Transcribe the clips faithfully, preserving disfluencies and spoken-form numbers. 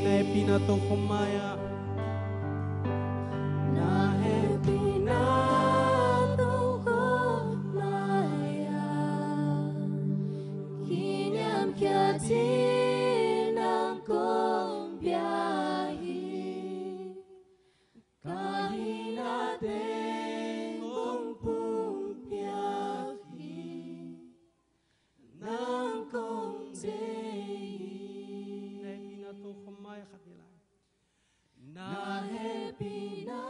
Na hehpihna tawh khawm mai-ah. Na hehpihna tawh khawm mai-ah. Kiniamkhiat in nang kong pia hi. Ka hihna teng kong pumpiak hi. Nang kong deih hi. Na hehpihna tawh khawm mai-ah khat ni lai. Na hehpihna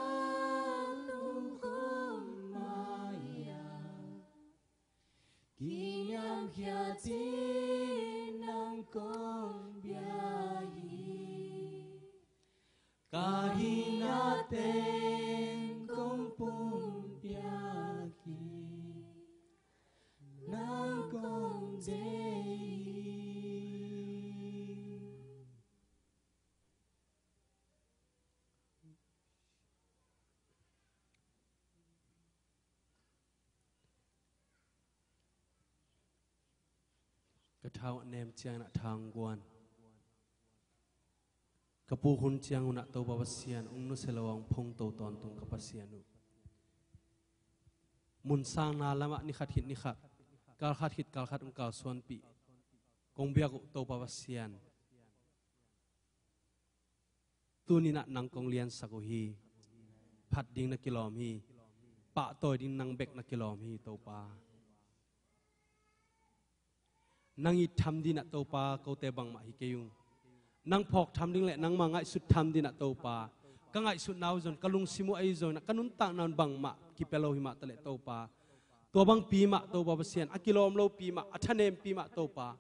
tawh khawm mai-ah. Kiniamkhiat in nang kong pia hi. Ka hihna teng kong pumpiak hi. Nang kong deih hi. Ka tha uh a nem ciangin a tha hong guan. Ka puk hun ciangun ah Topa Pasian hong nusia lo a hong phongto tawntung ka Pasian uh. Mun sangna lamah ni khat khit ni khat, kal khat khit kal khat hong kalsuanpih kong biak uh Topa Pasian. Tuni-in ah nang kong liansak uh hi. Phat ding na kilawm hi. Pahtawi ding nang bek na kilawm hi Topa. Nang it tham dingin ah Topa kote bangmah hi kei ung. Nang phawk tham ding le nangmah ngaihsut tham dingin ah Topa ka ngaihsutna uh zong, ka lungsim uh ahi zong, ka nuntakna un bangmah kipia lo hi mah taleh Topa, tua bangpi mah Topa Pasian, a kilawm lopi mah, a thanempi mah Topa,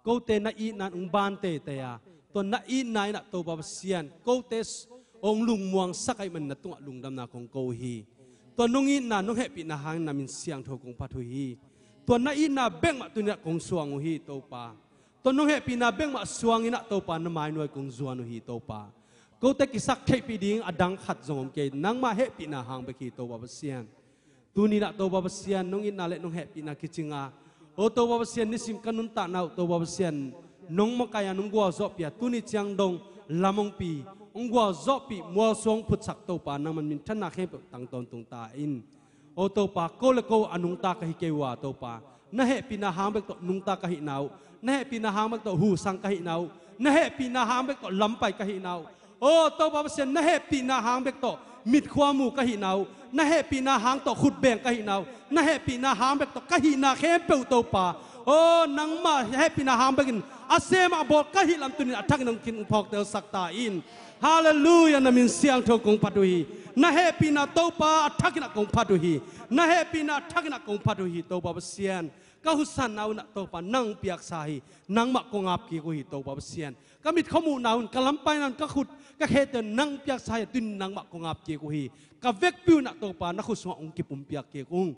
kote na itna in hong ban teitei a, tua na itna in ah Topa Pasian, kote s-, hong lungmuangsak ahih manin na tungah lungdamna kong ko uh hi. Tua nong itna, nong hehpihna hangin na min siangtho kong phat uh hi. Tua na itna bek mah tuni-in ah kong suang uh hi Topa. Tua nong hehpihna bek mah suangin ah Topa, na mai nuai kong zuan uh hi Topa. Kote kisap theihpih ding a dang khat zong om kei, nangmah hehpihna hang bek hi Topa Pasian. Tuni-in ah Topa Pasian, nong itna le nong hehpihna kicing a, o Topa Pasian, nisim ka nuntakna uh Topa Pasian, nong makaih a, nong gualzawhpih a, tuni ciang dong lam hong pi, hong gualzawhpih, mualsuang phutsak Topa, nangman minthanna khempeuh tang tawntung ta in. O Topa, ko le ko a nungta ka hi kei uh a Topa, na hehpihna hang bek tawh nungta ka hihna uh, na hehpihna hang bek tawh husang ka hihna uh, na hehpihna hang bek tawh lampai ka hihna uh, o Topa Pasian, na hehpihna hang bek tawh mitkhua mu ka hihna uh, na hehpihna hang tawh khutbeng ka hihna uh, na hehpihna hang bek tawh ka hihna khempeuh Topa, o nangmah hehpihna hang bekin a sem a bawl ka hih lam tuni-in a thakin hong kin phawktelsak ta in. Halleluiah, na min siangtho kong phat uh hi. Na hehpihna Topa a thakin ah kong phat uh hi. Na hehpihna a thakin ah kong phat uh hi Topa Pasian. Ka husanna un ah Topa nang piaksa hi. Nangmah kong ap kik uh hi Topa Pasian. Ka mitkhua muhna un, ka lampaina un, ka khut ka khete un nang piaksa hi a, tuni-in nangmah kong ap kik uh hi. Ka vekpi un ah Topa na khut sungah hong kipumpiak kik ung.